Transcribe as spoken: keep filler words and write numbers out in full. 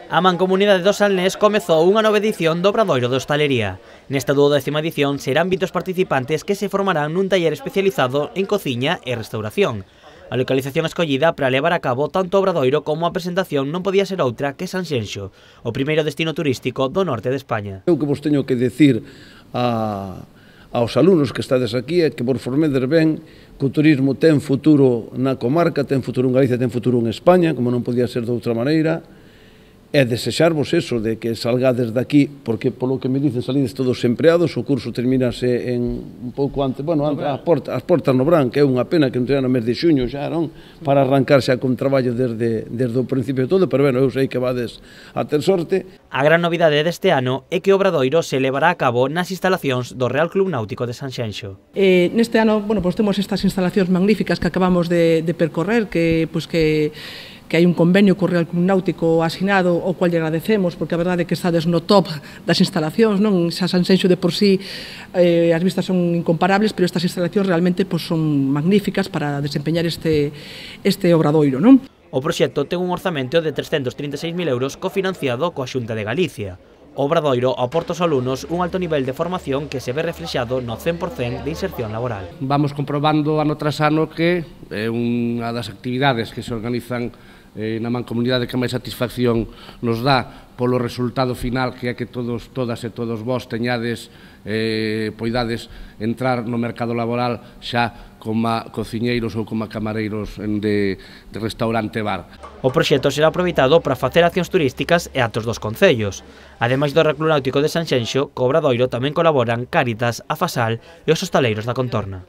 A Mancomunidade do Salnés comezou unha nova edición do Obradoiro de Hostalería. Nesta duodécima edición serán vinte os participantes que se formarán nun taller especializado en cociña e restauración. A localización escollida para levar a cabo tanto o Obradoiro como a presentación non podía ser outra que Sanxenxo, o primeiro destino turístico do norte de España. O que vos teño que decir a, aos alumnos que estades aquí é que por formeder ben que o turismo ten futuro na comarca, ten futuro en Galicia, ten futuro en España, como non podía ser de outra maneira. É desexarvos eso, de que salgades daqui, porque polo que me dicen salides todos empleados, o curso terminase en un pouco antes, bueno, antes, as, portas, as portas no Bran, que é unha pena que non teñan no mes de xuño xa, non? Para arrancar xa con traballo desde, desde o principio de todo, pero bueno, eu sei que vades a ter sorte. A gran novidade deste ano é que o Obradoiro se levará a cabo nas instalacións do Real Club Náutico de Sanxenxo. Eh, neste ano, bueno, pues temos estas instalacións magníficas que acabamos de, de percorrer, que, pues que que hai un convenio co Real Club Náutico asinado, o cual lle agradecemos, porque a verdade é que estades no top das instalacións, non? Xa Sanxenxo de por sí, eh, as vistas son incomparables, pero estas instalacións realmente pues, son magníficas para desempeñar este, este obradoiro, non? O proxecto ten un orzamento de trescentos trinta e seis mil euros cofinanciado coa Xunta de Galicia. O Obradoiro aporta aos alumnos un alto nivel de formación que se ve reflexado no cen por cen de inserción laboral. Vamos comprobando ano tras ano que é unha das actividades que se organizan eh, na Mancomunidade que máis satisfacción nos dá polo resultado final, que é que todos, todas e todos vós teñades, eh, poidades entrar no mercado laboral xa como cociñeiros ou como camareiros de, de restaurante bar. O proxecto será aproveitado para facer accións turísticas e actos dos concellos. Ademais do Real Club Náutico de Sanxenxo, co Obradoiro tamén colaboran Cáritas, a Fasal e os hostaleiros da contorna.